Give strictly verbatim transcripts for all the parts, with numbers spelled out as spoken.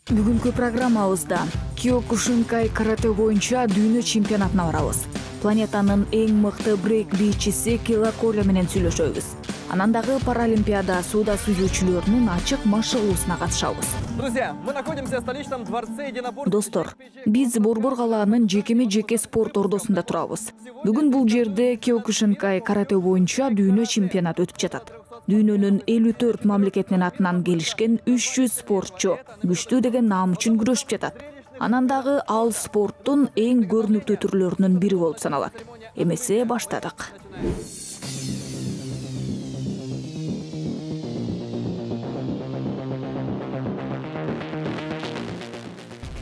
Бүгүнкү программабызда Киокушинкай карате боюнча дүйнө чемпионатына барабыз. Планетанын эң мыкты брейк бийчиси Килаколя менен сүйлөшөбүз. Анан дагы Паралимпиада сууда сүзүүчүлөрүнүн ачык машыгуусуна катышабыз. Друзья, мы находимся в столичном дворце единоборств. Достор, биз Борбор калаанын жекеме-жеке спорт ордосунда турабыз. Бүгүн бул жерде Киокушинкай карате боюнча дүйнө чемпионаты өтүп жатат. Дүйнөнүн элүү төрт мамлекетинин атынан келишкен үч жүз спортчу күчтүү деген наам үчүн күрөшүп жатат. Анан дагы ал спорттун эң көрүнүктүү түрлөрүнүн бири болуп саналат. Эмесе баштадык.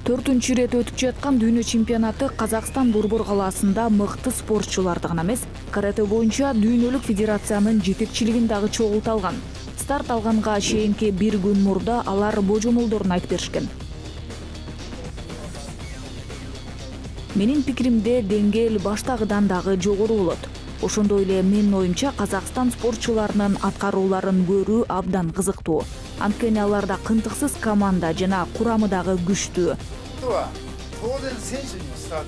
Төртүнчү ирет өтүп жаткан дүйнө чемпионаты Казакстан Борбор калаасында мыкты спортчуларды гана эмес, карате боюнча дүйнөлүк федерациянын жетекчилигин дагы чогулта алган. Старт алганга чейинки бир күн мурда алар божомолдорун айтып беришкен. Менин пикиримде деңгээл баштагыдан дагы жогору болот. Ошондой эле менин оюмча Казакстан спортчуларынын аткарууларын көрүү абдан кызыктуу. Анткени аларда кынтыксыз команда жана курамы дагы күчтүү.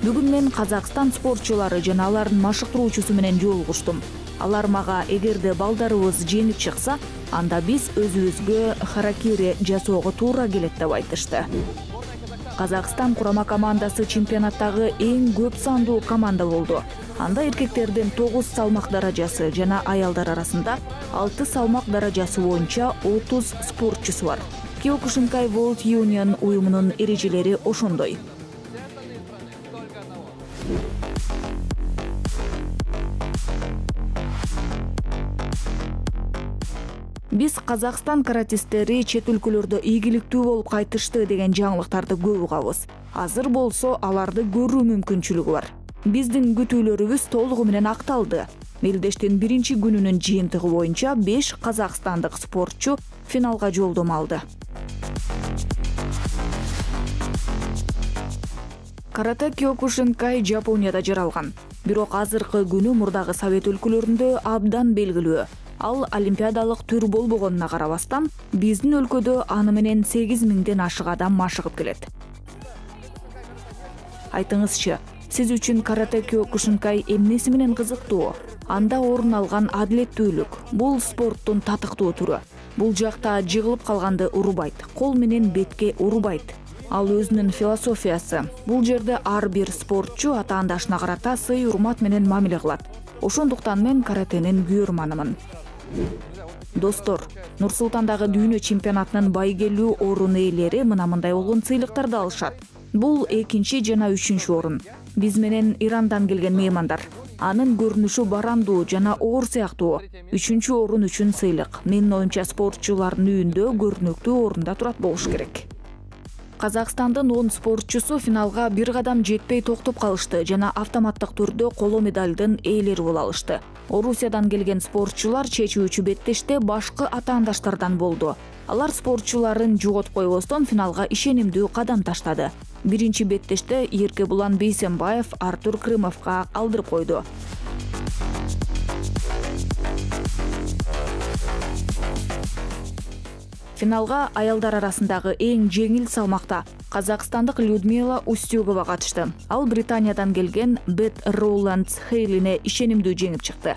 Бүгүн мен Казакстан спортчулары жана алардын машыктыруучусу менен жолугуштум. Алар мага эгерде балдарыбыз жеңип чыкса, анда биз өзүбүзгө харакири жасоого туура келет деп айтышты. Казакстан курама командасы чемпионаттагы эң көп сандуу команда болду. Анда эркектердин тогуз салмак даражасы жана аялдар арасында алты салмак даражасы боюнча отуз спортчусу бар. Киокушинкай World Union уюмунун эрежелери ошондой. Биз Казакстан каратистери чет өлкөлөрдө ийгиликтүү болуп кайтышты деген жаңылыктарды көп угабыз. Азыр болсо аларды көрүү мүмкүнчүлүгү бар. Биздин күтүүлөрүбүз толугу менен акталды. Мелдештин биринчи күнүнүн жыйынтыгы боюнча беш казакстандык спортчу финалга жолдомо алды. Карате Киокушинкай Жапонияда жаралган. Бирок азыркы күнү мурдагы Совет өлкөлөрүндө абдан белгилүү. Ал олимпиадалык түр болбогонуна карабастан, биздин өлкөдө аны менен сегиз миңден ашык адам машыгып келет. Айтыңызчы, сиз үчүн карате Киокушинкай эмнеси менен кызыктуу? Анда орун алган адилеттүүлүк. Бул спорттун татыктуу түрү. Бул жакта жыгылып калганды урбайт, кол менен бетке урбайт. Ал өзүнүн философиясы. Бул жерде ар бир спортчу атаандашына карата сый урмат менен мамиле кылат. Ошондуктан мен каратенин күйөрманымын. Достор, Нур-Султандагы дүйнө чемпионатынын байгелүү орун ээлери мына мындай болгон сыйлыктарды алышат. Бул экинчи жана үчүнчү орун. Биз менен Ирандан келген меймандар. Анын көрүнүшү барандуу жана оор сыяктуу. Үчүнчү орун үчүн сыйлык. Менин оюмча спортчулардын үйүндө көрүнүктүү орунда турат болуш керек. Казакстандын он спортчусу финалга бир кадам жетпей токтоп калышты жана автоматтык түрдө коло медалдын ээлери боло алышты. Орусиядан келген спортчулар чечүүчү беттеште башкы атаандаштардан болду. Алар спортчуларын жоготуп койбостон финалга ишенимдүү кадам таштады. Биринчи беттеште Эркебулан Бейсенбаев Артур Крымовго алдырып койду. Финалга аялдар арасындагы эң жеңил салмакта казакстандык Людмила Устюгова катышты. Ал Британиядан келген Бет Роуландс Хейлине ишенимдүү жеңип чыкты.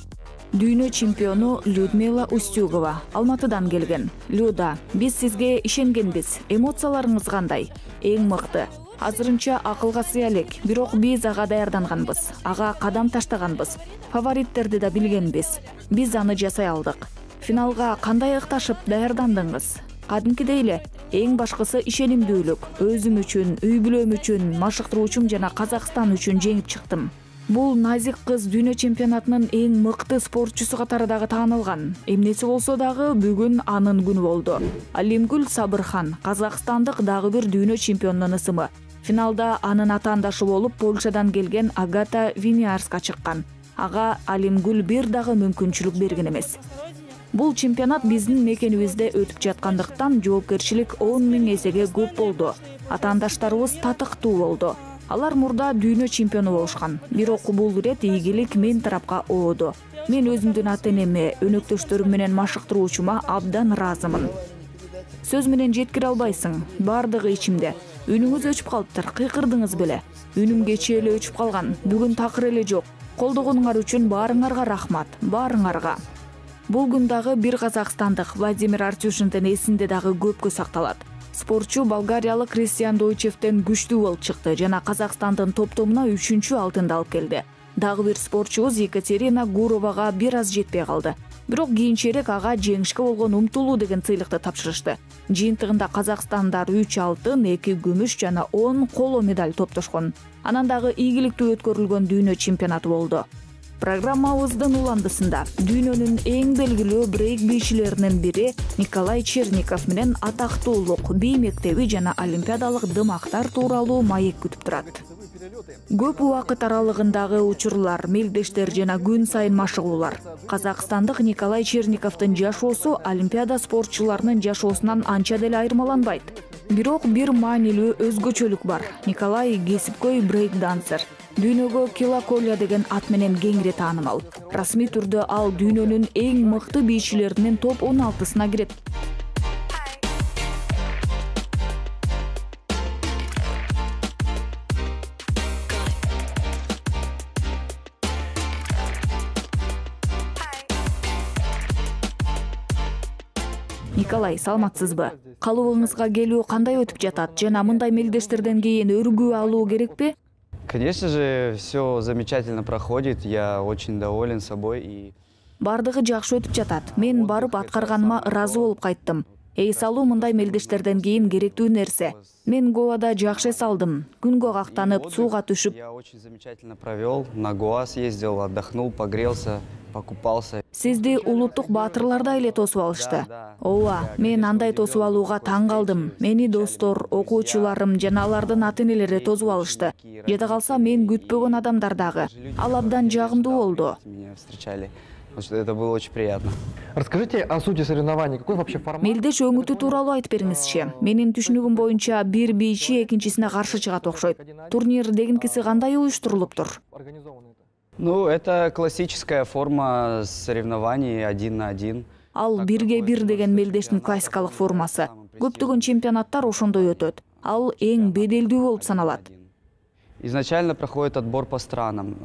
Дүйнө чемпиону Людмила Устюгова Алматыдан келген. Люда, биз сизге ишенгенбиз. Эмоцияларыңыз кандай? Эң мыкты. Азырынча акылга сыя элек, бирок биз ага даярданганбыз. Ага кадам таштаганбыз. Фавориттерди да билгенбиз. Биз аны жасай алдык. Финалга кандай ыкташып даярдандыңыз? Кадимкидей эле, эң башкысы ишенимдүүлүк. Өзүм үчүн, үй бүлөм үчүн, машыктыруучум жана Казакстан үчүн жеңип чыктым. Бул назик кыз дүйнө чемпионатынын эң мыкты спортчусу катары дагы таанылган. Эмнеси болсо дагы бүгүн анын күнү болду. Алимгүл Сабырхан, казакстандык дагы бир дүйнө чемпионунун ысымы. Финалда анын атаандашы болуп Польшадан келген Агата Виниарска чыккан. Ага Алимгүл бир дагы мүмкүнчүлүк берген эмес. Бул чемпионат биздин мекенибизде өтүп жаткандыктан жоопкерчилик он миң эсеге көп болду. Атаандаштарыбыз татыктуу болду. Алар мурда дүйнө чемпиону болушкан. Бирок бул ирет ийгилик мен тарапка ооду. Мен өзүмдүн ата-энеме, өнөктөштөрүм менен машыктыруучума абдан ыраазымын. Сөз менен жеткире албайсың, бардыгы ичимде. Үнүңүз өчүп калыптыр, кыйкырдыңыз беле. Үнүм кечээ эле өчүп калган, бүгүн такыр эле жок. Колдогонуңар үчүн баарыңарга рахмат, баарыңарга. Бул күн дагы бир казакстандык Владимир Артюшиндин эсинде дагы көпкө сакталат. Спортчу болгариялык Кристиан Дойчевден күчтүү болуп чыкты жана Казакстандын топтомуна үчүнчү алтынды алып келди. Дагы бир спортчубуз Екатерина Гуровага бир аз жетпей калды. Бирок кийинчерээк ага жеңишке болгон умтулуу деген сыйлыкты тапшырышты. Жыйынтыгында казакстандар үч алтын, эки күмүш жана он коло медаль топтошкон. Анан дагы ийгиликтүү өткөрүлгөн дүйнө чемпионаты болду. Программабыздын уландысында дүйнөнүн эң белгилүү брейк бийчилеринин бири Николай Черников менен атактуулук, бий мектеби жана олимпиадалык дымактар тууралуу маек күтүп турат. Көп убакыт аралыгындагы учурлар, мелдештер жана күн сайын машыгуулар. Казакстандык Николай Черниковдун жашоосу олимпиада спортчуларынын жашоосунан анча деле айырмаланбайт. Бирок бир маанилүү өзгөчөлүк бар. Николай кесипкөй брейк-дансер. Дүйнөгө Килаколия деген ат менен кеңири таанымал. Расмий түрдө ал дүйнөнүн эң мыкты бийчилеринин топ он алтысына кирет. Николай, саламатсызбы? Калыбыңызга келүү кандай өтүп жатат жана мындай мелдештерден кийин өргүү алуу керекпи? Конечно же, все замечательно проходит, я очень доволен собой и... Бардыгы жакшы өтүп жатат. Мен барып аткарганыма ыраазы болуп кайттым. Эс алуу мындай мелдештерден кийин керектүү нерсе. Мен Гоада жакшы эс алдым. Күнгө кактанып, сууга түшүп. Я очень замечательно провел, на Гоа съездил, отдохнул, погрелся, покупался. Сизди улуттук баатырлар да эле тосуп алышты. Ооба, мен андай тосуп алууга таң калдым. Мени достор, окуучуларым жана алардын ата-энелери тосуп алышты. Жада калса мен күтпөгөн адамдар дагы. Ал абдан жагымдуу болду. Меня встречали. Это было очень приятно. Расскажите о сути соревнований. Какой вообще формат? Мелдеш өңүтү тууралуу айтып бериңизчи. Менин түшүнүгүм боюнча бир бийчи экинчисине каршы чыгат окшойт. Турнир дегенкиси кандай уюштурулуптур? Ну, это классическая форма соревнований один на один. Ал бирге бир деген мелдештин классикалык формасы. Көптөгөн чемпионаттар ошондой өтөт. Ал эң беделдүү болуп саналат. Изначально проходит отбор по странам.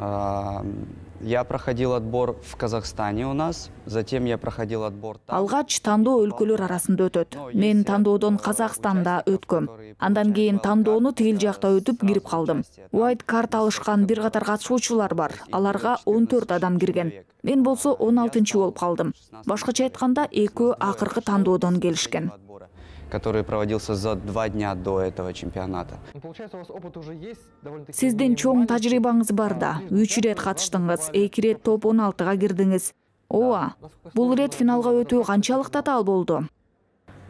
Я проходил отбор в Казахстане у нас, затем я проходил отбор там. Алгач тандоо өлкөлөр арасында өтөт. Мен тандоодон Казакстанда өткөм. Андан кийин тандоону тигил жакта өтүп кирип калдым. White карт алышкан бир катар катышуучулар бар. Аларга он төрт адам кирген. Мен болсо он алтынчы болуп калдым. Башкача айтканда экөө акыркы тандоодон келишкен. Который проводился за два дня до этого чемпионата. Сиздин чоң тажрыйбаңыз бар да. Үч ирет катыштыңыз, эки ирет топ он алтыга кирдиңиз. Ооба, бул ирет финалга өтүү канчалык татаал болду?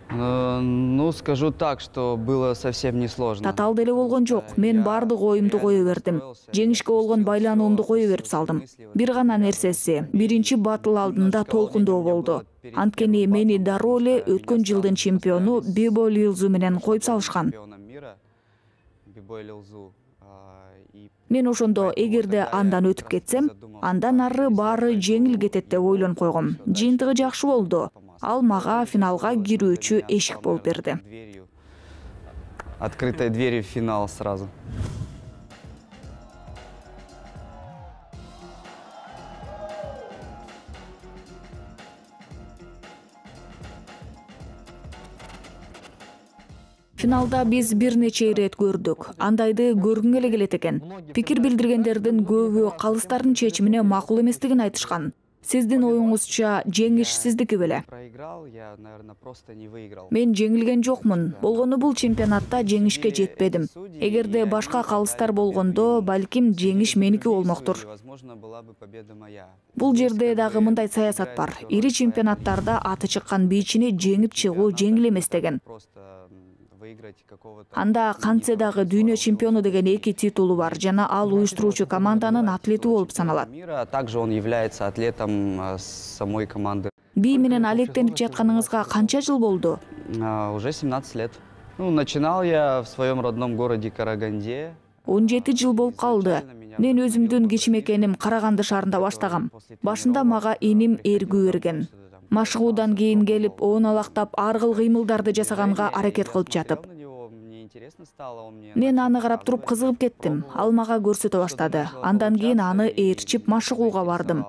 Ну, скажу так, что было совсем несложно. Татаал деле болгон жок. Мен бардык оюмду кое бердим. Жеңишке болгон байлануумду кое берип салдым. Бир гана нерсеси, биринчи батыл алдында толкундоо болду. Анткени мени дароо эле өткөн жылдын чемпиону Бибо Лилзу менен коюп салышкан. Мен ошондо эгерде андан өтүп кетсем, андан ары баары жеңил кетет деп ойлонуп койгом. Жыйынтыгы жакшы болду. Ал мага финалга кирүүчү эшик болуп берди. Открытой дверью в финал сразу. Финалда биз бир нече ирет көрдүк. Андайды көргүң эле келет экен. Пикир билдиргендердин көбү калыстардын чечимине макул эместигин айтышкан. Сиздин оюңузча жеңиш сиздики беле? Мен жеңилген жокмун. Болгону бул чемпионатта жеңишке жетпедим. Эгерде башка калыстар болгондо, балким жеңиш меники болмоктур. Бул жерде дагы мындай саясат бар. Ири чемпионаттарда аты чыккан бийчини жеңип чыгуу жеңил эмес деген. Анда кантсе дагы дүйнө чемпиону деген эки титулу бар жана ал уюштуруучу команданын атлети болуп саналат. Также он является атлетом самой команды. Би менен алектенип жатканыңызга канча жыл болду? Уже семнадцать лет. Ну, начинал я в своем родном городе Караганде. он жети жыл болуп калды. Мен өзүмдүн кичимекеним Караганды шаарында баштагам. Башында мага эним эргүү берген. Машыгуудан кийин келип, оонолактап, ар кыл кыймылдарды жасаганга аракет кылып жатып. Мен аны карап туруп кызыгып кеттим. Ал мага көрсөтө баштады. Андан кийин аны ээрчип машыгууга бардым.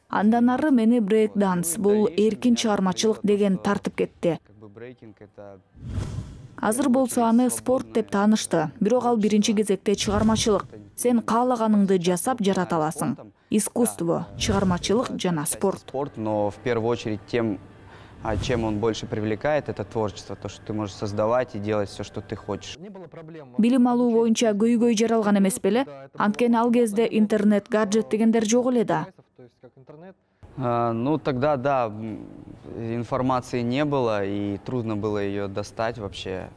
Андан ары мени брейк-данс, бул эркин чыгармачылык деген тартып кетти. Азыр болсо аны спорт деп таанышты, бирок ал биринчи кезекте чыгармачылык. Сен каалаганыңды жасап жарата аласың. Искусство, чыгармачылык жана спорт. Спорт, но в первую очередь тем, а чем он больше привлекает, это творчество, то, что ты можешь создавать и делать все, что ты хочешь. Билим алуу боюнча көйгөй жаралган эмес беле? Анткени ал кезде интернет, гаджет дегендер жок эле да. А, ну, тогда, да, информации не было, и трудно было ее достать вообще.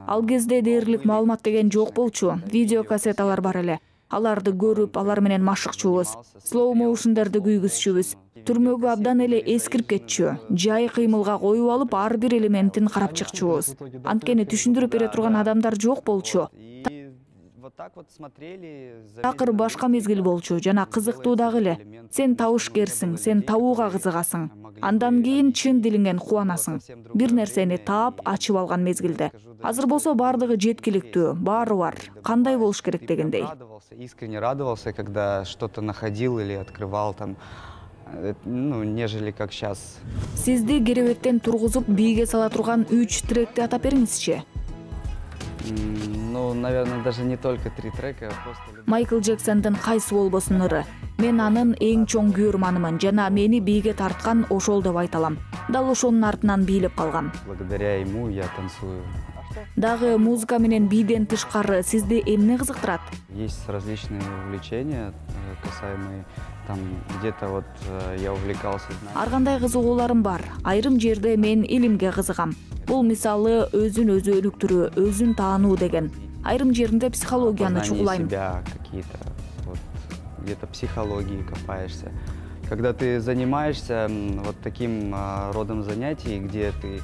Ал кезде дээрлик маалымат деген жок болчу. Видеокассеталар бар эле. Аларды көрүп, алар менен машыкчубуз. Slow motion'дарды күйгүзчүбүз. Түрмөгү абдан эле эскирип кетчү. Жай кыймылга коюп алып, ар бир элементин карап чыкчубуз. Анткени түшүндүрүп бере турган адамдар жок болчу. Такыр башка мезгил болчу, жана кызыктуу дагы эле. Сен табышкерсиң, сен табууга кызыгасың. Андан кийин чын дилиңен кубанасың. Бир нерсени таап, ачып алган мезгилде. Азыр болсо бардыгы жеткиликтүү, баары бар. Кандай болуш керек дегендей. Искренне радовался, когда что-то находил или открывал там, ну, нежели как сейчас. Сизди керебеттен тургузуп бийге сала турган үч тректи атап бериңизчи. Ну, наверное, даже не только три трека, а просто... Майкл Джексондун кайсы болбосун ыры. Мен анын эң чоң күйөрманымын жана мени бийге тарткан ошол деп айта алам. Дал ошонун артынан бийлеп калгам. Благодаря ему я танцую. Дагы музыка менен бийден тышкары сизди эмне кызыктырат? Есть различные увлечения, касаемые там где-то вот я увлекался. Ар кандай кызыгууларым бар. Айрым жерде мен илимге кызыгам. Бул мисалы өзүн өзү өнүктүрүү, өзүн таануу деген. Айрым жеринде психологияны чугулайм. Какие-то вот где-то психологии копаешься. Когда ты занимаешься вот таким родом занятий, где ты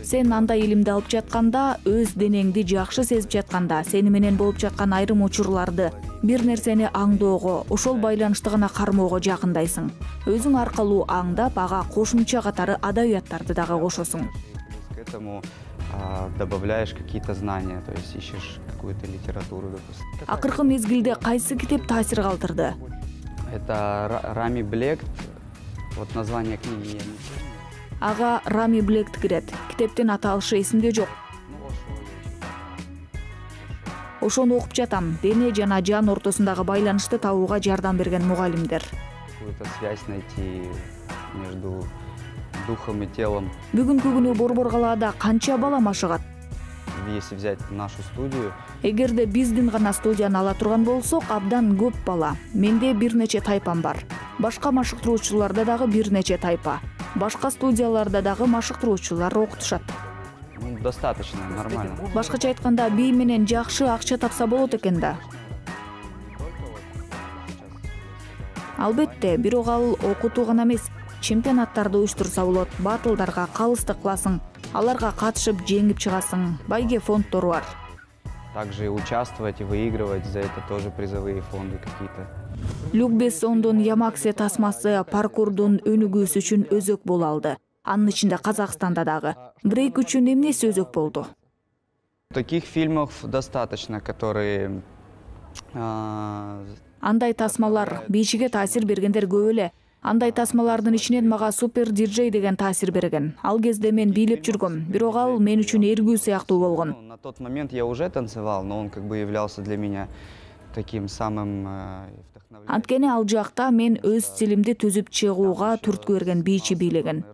Сен андай илимди алып жатканда, өз денеңди жакшы сезип жатканда, сени менен болуп жаткан айрым учурларды, бир нерсени аңдоого, ошол байланышты гана кармоого жакындайсың. Өзүң аркылуу аңдап, ага кошумча катары адабияттарды дагы кошосуң. К этому добавляешь какие-то знания, то есть ищешь какую-то литературу, допустим. Акыркы мезгилде кайсы китеп таасир калтырды? Это Рами Блект. Вот название книги я не помню. Ага Рами Блект кирет. Китептин аталышы эсимде жок. Ошону окуп жатам. Дене жана жан ортосундагы байланышты табууга жардам берген мугалимдер. Какую-то связь найти между духом и телом. Бүгүнкү күнү Борбор калаада канча бала машыгат? Если взять нашу студию, эгерде биздин гана студияны ала турган болсок, абдан көп бала. Менде бир нече тайпам бар. Башка машыктыруучуларда дагы бир нече тайпа. Башка студияларда дагы машыктыруучулар окутушат. Ну, достаточно, нормально. Башкача айтканда, бий менен жакшы акча тапса болот экен да. Албетте, бирок ал окутуу гана эмес, чемпионаттарды уюштурса болот, батылдарга калыстык кыласың, аларга катышып жеңип чыгасың, байге фонддору бар. Также участвовать и выигрывать, за это тоже призовые фонды какие-то. Люк Бессондун Ямаксе тасмасы паркурдун өнүгүүсү үчүн өзөк боло алды. Анын ичинде Казакстанда дагы. Брейк үчүн эмнеси өзөк болду? Таких фильмов достаточно, которые... Андай тасмалар бийчиге таасир бергендер көп эле. Андай тасмалардын ичинен мага Супер диджей деген таасир берген. Ал кезде мен бийлеп жүргөм, бирок ал мен үчүн эргүү сыяктуу болгон. На тот момент я уже танцевал, но он как бы являлся для меня таким самым вдохновляющим. Анткени ал жакта мен өз стилимди түзүп чыгууга түрткү берген бийчи бийлеген.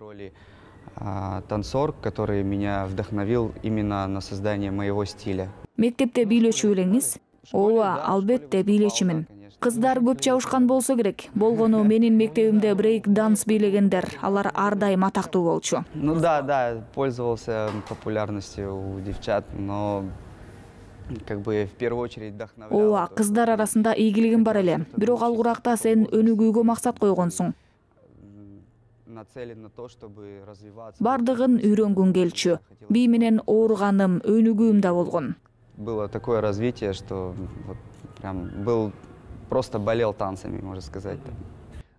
Танцор, который меня вдохновил именно на создание моего стиля. Мектепте бийлөөчү белеңиз? Ооба, албетте бийлечимин. Кыздар көп чабышкан болсо керек. Болгону менин мектебимде брейк-данс бийлегендер, алар ар дайым атактуу болчу. Ну да, да, пользовался популярностью у девчат, но как бы в первую очередь вдохновлял. Ооба, кыздар арасында ийгилигим бар эле. Бирок ал куракта сен өнүгүүгө максат койгонсуң. Нацелен на то, чтобы развиваться. Бардыгын үйрөнгүң келчү. Бий менен ооруганым, өнүгүүм да болгон. Было такое развитие, что вот прям был просто болел танцами, можно сказать.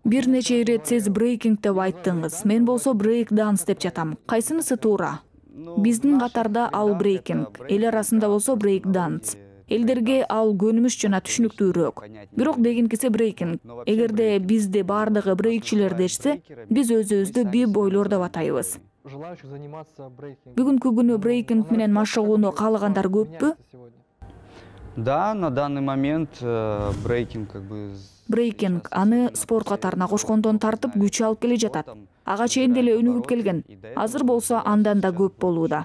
Бир нече ирет сиз брейкинг деп айттыңыз. Мен болсо брейк данс деп жатам. Кайсынысы туура? Биздин катарда ал брейкинг, эл арасында болсо брейк данс. Элдерге ал көнүмүш жана түшүнүктүүрөөк. Бирок дегенкиси брейкинг. Эгерде бизди бардыгы брейкчилер дешсе, биз өзүбүздү би-бойлор деп атайбыз. Бүгүнкү күнү брейкинг менен машыгууну каалагандар көппү? Да, на данный момент э, брейкинг как бы... Брейкинг аны спорт катарына кошкондон тартып күч алып келе жатат. Ага чейин деле өнүгүп келген. Азыр болсо андан да көп болууда.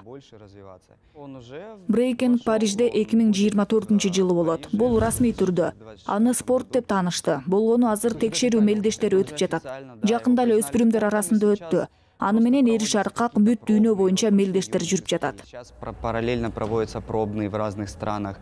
Брейкинг Парижде эки миң жыйырма төртүнчү жылы болот. Бул расмий түрдө. Аны спорт деп таанышты. Болгону азыр текшерүү мелдештери өтүп жатат. Жакында эле өспүрүмдөр арасында өттү. Аны менен эри шаркак бүт дүйнө боюнча мелдештер жүрүп жатат. Сейчас параллельно проводятся пробные в разных странах.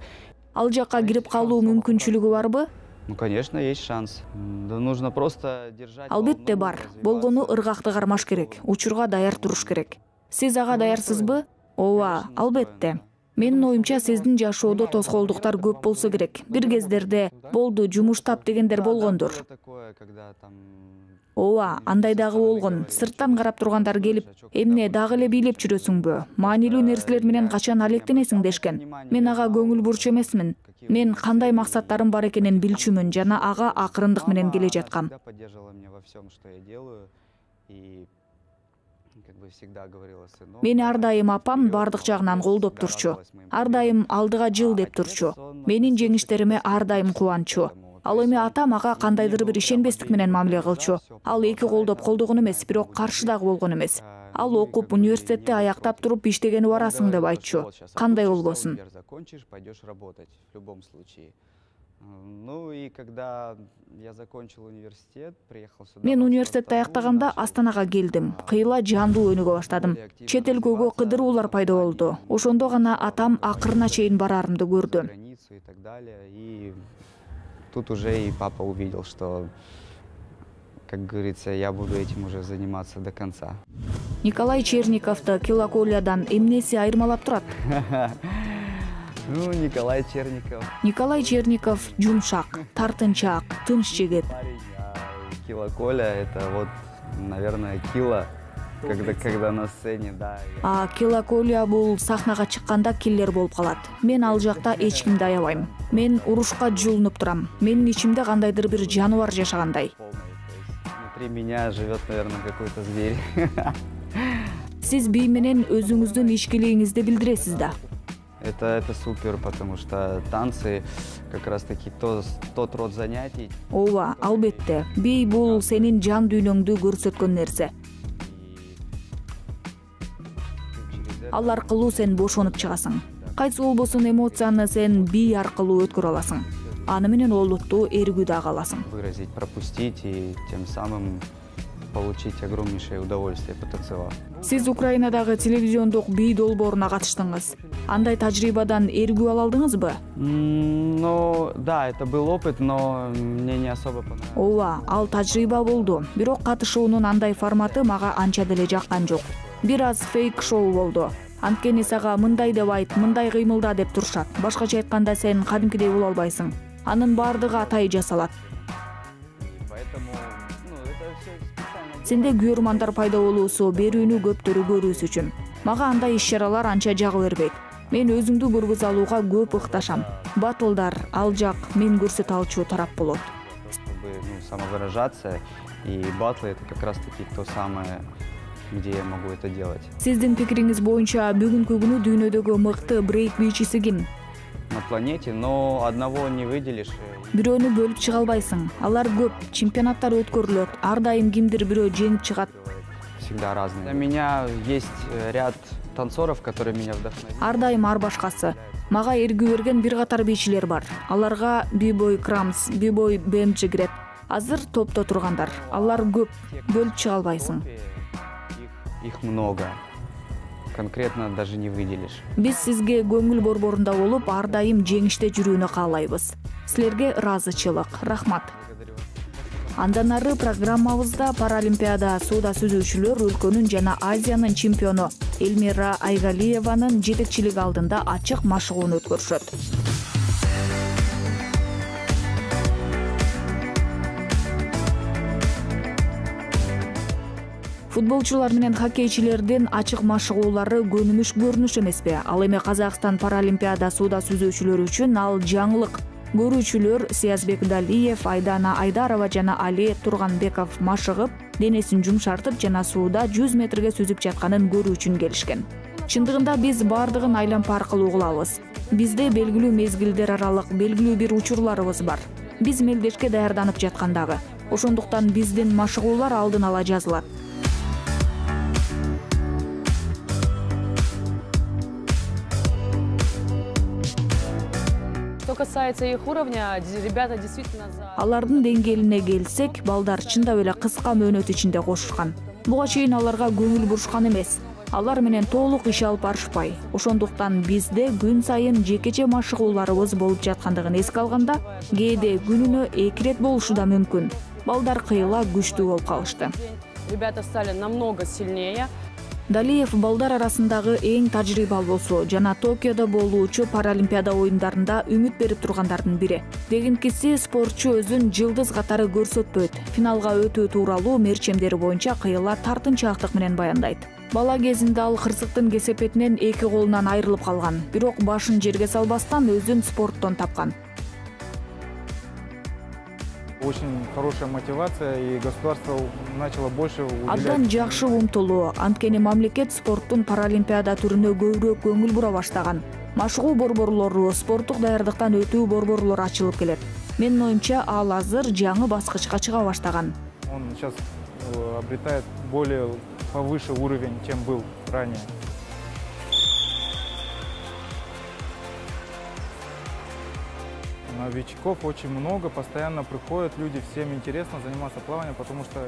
Ал жакка кирип калуу мүмкүнчүлүгү барбы? Ну, конечно, есть шанс. Да нужно просто держать... Албетте бар. Болгону ыргакты кармаш керек. Учурга даяр туруш керек. Сиз ага даярсызбы? Ооба, албетте. Менин оюмча сиздин жашоодо тоскоолдуктар көп болсо керек. Бир кездерде болду, жумуш тап дегендер болгондур. Ооба, андай дагы болгон. Сырттан карап тургандар келип, эмне дагы эле бийлеп жүрөсүңбү? Маанилүү нерселер менен качан алектенесиң дешкен. Мен ага көңүл бурчу эмесмин. Мен кандай максаттарым бар экенин билчүмүн жана ага акырындык менен келе жаткам. Мени ар дайым апам бардык жагынан колдоп турчу. Ар дайым алдыга жыл деп турчу. Менин жеңиштериме ар дайым кубанчу. Ал эми атам ага кандайдыр бир ишенбестик менен мамиле кылчу. Ал эки колдоп колдогон эмес, бирок каршы дагы болгон эмес. Ал окуп, университетти аяктап туруп иштегени барасың деп айтчу. Кандай болбосун? Ну и когда я закончил университет, приехал сюда. Мен университетти аяктаганда Астанага келдим. Кыйла жандуу өнүгө баштадым. Чет элгөгө кыдыруулар пайда болду. Ошондо гана атам акырына чейин барарымды көрдү. И тут уже и папа увидел, что, как говорится, я буду этим уже заниматься до конца. Николай Черниковду килоколиядан эмнеси айырмалап турат? Ну, Николай Черников. Николай Черников жумшак, тартынчаак, тынч жигит. Килоколя — это вот, наверное, кило, когда, когда на сцене, да. А килоколия бул сахнага чыкканда киллер болуп калат. Мен ал жакта эч кимди аябайм. Мен урушка жулунуп турам. Менин ичимде кандайдыр бир жаныбар жашагандай. Внутри меня живет, наверное, какой-то зверь. Сиз бий менен өзүңүздүн ичкилигиңизди билдиресиз да. Это, это супер, потому что танцы как раз-таки то, тот род занятий. Ооба, албетте. Бий бул сенин жан дүйнөңдү көрсөткөн нерсе. Ал аркылуу сен бошонуп чыгасың. Кайсы болбосун эмоцияны сен бий аркылуу өткөрө аласың. Аны менен олуттуу эргүү дагы аласың. Выразить, пропустить и тем самым получить огромнейшее удовольствие, потанцевав. Сиз Украинадагы телевизиондук бий долбооруна катыштыңыз. Андай тажрыйбадан эргүү ала алдыңызбы? Ну, да, это был опыт, но мне не особо понравилось. Ооба, ал тажрыйба болду. Бирок катышуунун андай форматы мага анча деле жаккан жок. Бир аз фейк шоу болду. Анткени сага мындай деп айт, мындай кыймылда деп турушат. Башкача айтканда сен кадимкидей боло албайсың. Анын бардыгы атай жасалат. Сенде көрмандар пайда болуусу, берүүнү көптөрү көрүүсү үчүн. Мага андай иш-чаралар анча жагы бербейт. Мен өзүмдү көргөзө алууга көп ыкташам. Батылдар, ал жак мен көрсөтө алчу тарап болот. Чтобы, ну, самовыражаться, и батлы — это как раз-таки то самое, где я могу это делать. Сиздин пикириңиз боюнча бүгүнкү күнү дүйнөдөгү мыкты брейк бийчиси ким? На планете, но одного не выделишь. Бирөөнү бөлүп чыга албайсың. Алар көп, чемпионаттар өткөрүлөт. Ар дайым кимдир бирөө жеңип чыгат. Всегда разные. У меня есть ряд танцоров, которые меня вдохновляют. Ар дайым ар башкасы. Мага эргүү берген бир катар бийчилер бар. Аларга B-boy Crumbs, B-boy би эм джи кирет. Азыр топто тургандар. Алар көп, бөлүп чыга албайсың. Их, их много. Конкретно даже не выделишь. Биз сизге көңүл борборунда болуп, ар дайым жеңиште жүрүүнү каалайбыз. Силерге ыраазычылык. Рахмат. Андан ары программабызда Паралимпиада сууда сүзүүчүлөр өлкөнүн жана Азиянын чемпиону Эльмира Айгалиеванын жетекчилиги алдында ачык машыгууну өткөрүшөт. Футболчулар менен хоккейчилердин ачык машыгуулары көнүмүш көрүнүш эмеспи? Ал эми Казакстан Паралимпиада сууда сүзүүчүлөрү үчүн ал жаңылык. Көрүүчүлөр Сиязбек Далиев, Айдана Айдарова жана Али Турганбеков машыгып, денесин жумшартып жана сууда жүз метрге сүзүп жатканын көрүү үчүн келишкен. Чындыгында биз бардыгын айлампа аркылуу кылабыз. Бизде белгилүү мезгилдер аралык белгилүү бир учурларыбыз бар. Биз мелдешке даярданып жаткандагы. Ошондуктан биздин машыгуулар алдын ала жазылат. Что касается их уровня, ребята действительно за... Алардын деңгээлине келсек, балдар чындап эле кыска мөөнөт ичинде кошушкан. Буга чейин аларга көңүл бурушкан эмес. Алар менен толук иш алып барышпай. Ошондуктан бизде күн сайын жекече машыгууларыбыз болуп жаткандыгын эске алганда, кээде күнүнө эки ирет болушу да мүмкүн. Балдар кыйла күчтүү болуп калышты. Ребята стали намного сильнее. Далиев балдар арасындагы эң тажрыйбалуусу жана Токиодо болуучу Паралимпиада оюндарында үмүт берип тургандардын бири. Дегенкиси, спортчу өзүн жылдыз катары көрсөтпөйт. Финалга өтүү тууралуу мерчемдери боюнча кыйла тартынчаактык менен баяндайт. Бала кезинде ал кырсыктын кесепетинен эки колунан айрылып калган, бирок башын жерге салбастан өзүн спорттон тапкан. Очень хорошая мотивация, и государство начало больше уделять. Абдан жакшы умтулуу, анткени мамлекет спорттун Паралимпиада түрүнө көбүрөөк көңүл бура баштаган. Машыгуу борборлору, спорттук даярдыктан өтүү борборлору ачылып келет. Менин оюмча, ал азыр жаңы баскычка чыга баштаган. Он сейчас обретает более повыше уровень, чем был ранее. Новичков очень много, постоянно приходят люди, всем интересно заниматься плаванием, потому что...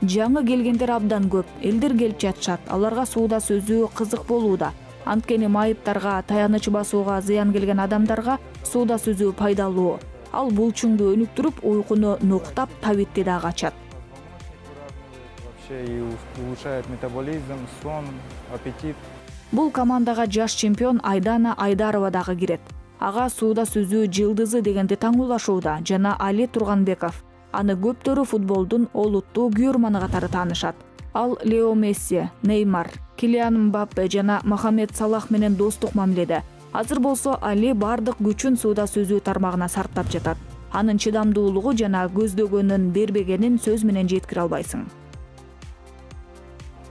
Жаңы келгендер абдан көп, элдер келип жатышат, аларга сууда сөзүү кызык болууда. Анткени майыптарга, таяныч басууга зыян келген адамдарга сууда сөзүү пайдалуу. Ал булчуңду өнүктүрүп, уйкуну нуктап, табитти да качат. Вообще и улучшает метаболизм, сон, аппетит. Бул командага жаш чемпион Айдана Айдарова дагы кирет. Ага сууда сүзүү жылдызы дегенди таңуулашууда жана Али Турганбеков. Аны көптөрү футболдун олуттуу күйөрманы катары таанышат. Ал Лео Месси, Неймар, Килиан Мбаппе жана Мохамед Салах менен достук мамиледе. Азыр болсо Али бардык күчүн сууда сүзүү тармагына сарптап жатат. Анын чыдамдуулугу жана көздөгөнүн бербегенин сөз менен жеткире албайсың.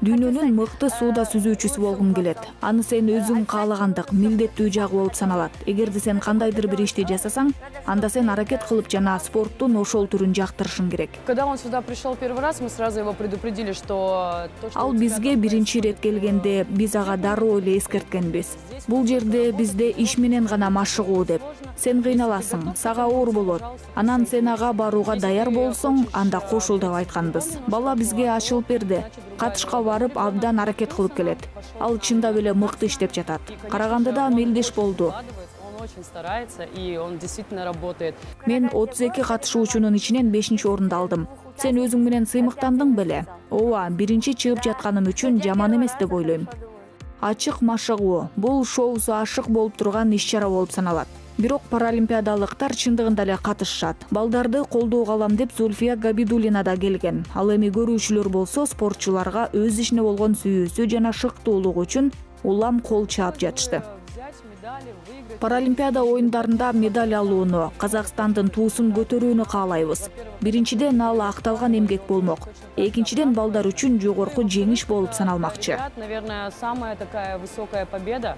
Дүйнөнүн мыкты сууда сүзүүчүсү болгум келет. Аны сен өзүң каалагандык, милдеттүү жагы болуп саналат. Эгерде сен кандайдыр бир ишти жасасаң, анда сен аракет кылып жана спорттун ошол түрүн жактырышың керек. Когда он сюда пришел первый раз, мы сразу его предупредили, что... Ал бизге биринчи ирет келгенде биз ага дароо эле эскерткенбиз. Бул жерде бизде иш менен гана машыгуу деп. Сен кыйналасың, сага оор болот. Анан сен ага барууга даяр болсоң, анда кошул деп айтканбыз. Бала бизге ачылып берди. Катышка барып абдан аракет кылып келет. Ал чындап эле мыкты иштеп жатат. Карагандыда мелдеш болду. Мен отуз эки катышуучунун ичинен бешинчи орунду алдым. Сен өзүң менен сыймыктандың беле? Ооба, биринчи чыгып жатканым үчүн жаман эмес деп ойлойм. Ачык машыгуу, бул шоусу ашык болуп турган иш-чара болуп саналат. Бирок паралимпиадалыктар чындыгында эле катышышат. Балдарды колдоого алам деп Зульфия Габидуллина да келген. Ал эми көрүүчүлөр болсо спортчуларга өз ишине болгон сүйүүсү жана шыктуулугу үчүн улам кол чаап жатышты. Паралимпиада оюндарында медаль алууну, Казакстандын туусун көтөрүүнү каалайбыз. Биринчиден ал акталган эмгек болмок. Экинчиден балдар үчүн жогорку жеңиш болуп саналмакчы. Наверное, самая такая высокая победа.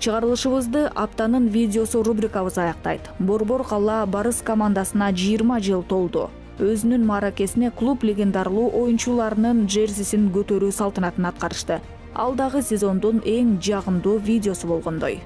Чыгарылышыбызды аптанын видеосу рубрикабыз аяктайт. Борбор кала Барыс командасына жыйырма жыл толду. Өзүнүн мааракесине клуб легендарлуу оюнчуларынын джерсисин көтөрүү салтанатын аткарышты. Ал дагы сезондун эң жагымдуу видеосу болгондой.